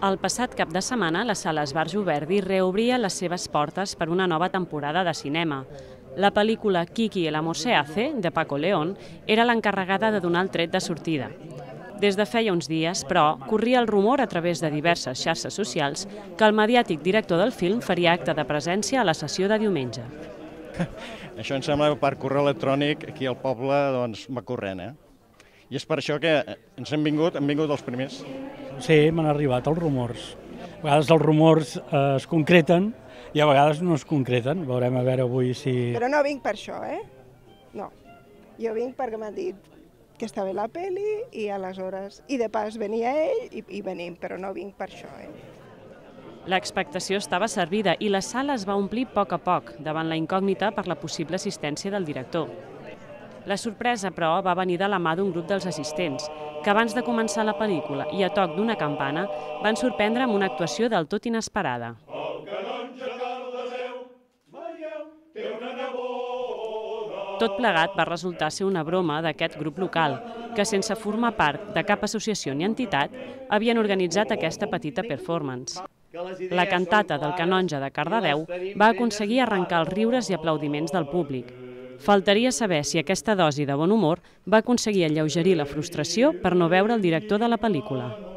El passat cap de setmana, la Sala Esbarjo Verdi reobria les seves portes per una nova temporada de cinema. La pel·lícula Kiki el amor se hace, de Paco León, era l'encarregada de donar el tret de sortida. Des de feia uns dies, però, corria el rumor a través de diverses xarxes socials que el mediàtic director del film faria acte de presència a la sessió de diumenge. Això em sembla que per correu electrònic aquí al poble va corrent, I és per això que ens hem vingut els primers. Sí, m'han arribat els rumors. A vegades els rumors es concreten i a vegades no es concreten. Veurem a veure avui si... Però no vinc per això, No. Jo vinc perquè m'han dit que està bé la pel·li i aleshores... I de pas venia ell i venim, però no vinc per això, L'expectació estava servida i la sala es va omplir a poc davant la incògnita per la possible assistència del director. La sorpresa, però, va venir de la mà d'un grup dels assistents, que abans de començar la pel·lícula i a toc d'una campana van sorprendre amb una actuació del tot inesperada. Tot plegat va resultar ser una broma d'aquest grup local, que sense formar part de cap associació ni entitat, havien organitzat aquesta petita performance. La cantata del canonge de Cardedeu va aconseguir arrencar els riures i aplaudiments del públic. Faltaria saber si aquesta dosi de bon humor va aconseguir alleugerir la frustració per no veure el director de la pel·lícula.